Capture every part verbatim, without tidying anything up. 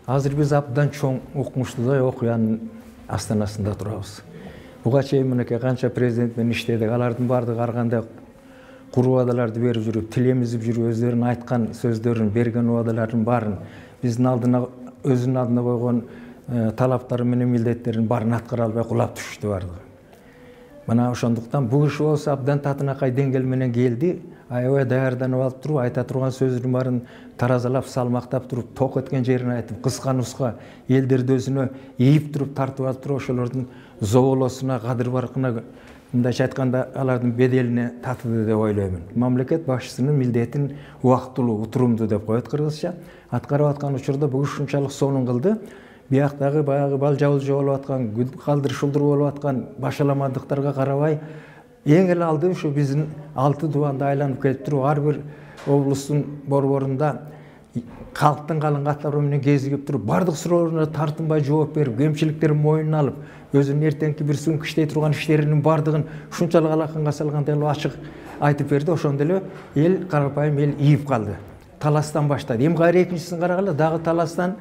Азыр биз абдан чоң укмуштуу окуянын астанасында турабыз. Буга чейин мынакей канча президент менен иштедик. Алардын баардыгы ар кандай куру убадаларды берип жүрүп, тилемизип жүрүп, өздөрүнүн айткан сөздөрүн, берген убадалардын баарын биздин алдына өзүнүн алдына койгон талаптары менен милдеттерин баарын аткара албай кулап түшүштү баардыгы. Мына ошондуктан бул киши болсо абдан татынакай деңгээл менен келди. Аябай даярданып алып туруп, айта турган сөзүнүн баарын таразалап, салмактап туруп, ток өткөн жерин айтып, кыска-нуска элдерди өзүнө ийип туруп, тартып алып туруп, ошолордун зоболосуна, кадыр баркына, мындайча айтканда, алардын беделине татыды деп ойлоймун. Мамлекет башчысынын милдетин убактылуу, утурумдуу деп коет кыргызча. Аткарып аткан учурда бул ушунчалык сонун кылды. Бияктагы баягы балжа-булжа болуп аткан, калдыр-шулдур болуп аткан башаламандыктарга карабай, эң эле алды ушу биздин алты дубанды айланып келип туруп, ар бир облустун борборунда калктын калың каттары менен кезигип туруп, бардык суроолоруна тартынбай жооп берип, кемчиликтерин мойнуна алып, өзүнүн эртеңки бир суңку иштей турган иштеринин бардыгын ушунчалык алаканга салгандай эле ачык айтып берди. Ошондо эле эл, карапайым эл ийип калды. Таластан баштады. Эми кайра экинчисин карагыла, дагы таластан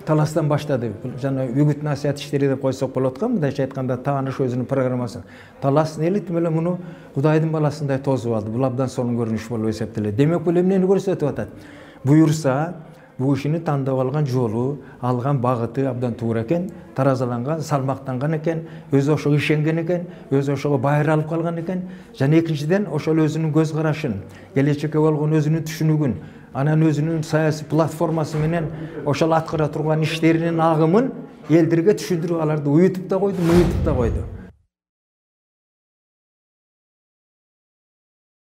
таластан баштады. Жана үгүт насаят иштери деп койсок болот го, мындайча айтканда тааныш өзүнүн программасын. Таластын эли тим эле муну Кудайдын баласындай тосуп алды. Бул абдан сонун көрүнүш болуп эсептелет. Демек бул эмнени көрсөтүп атат? Буюрса, бул кишини тандап алган жолу, алган багыты абдан туура экен, таразаланган, салмактанган экен, өзү ошого ишенген экен, өзү ошого байыр алып калган экен. Жана экинчиден ошол өзүнүн көз карашын, келечекке болгон өзүнүн түшүнүгүн, анан өзүнүн саясий платформасы менен ошол аткара турган иштеринин агымын элдерге түшүндүрүп, аларды уютуп да койду, муютуп да койду.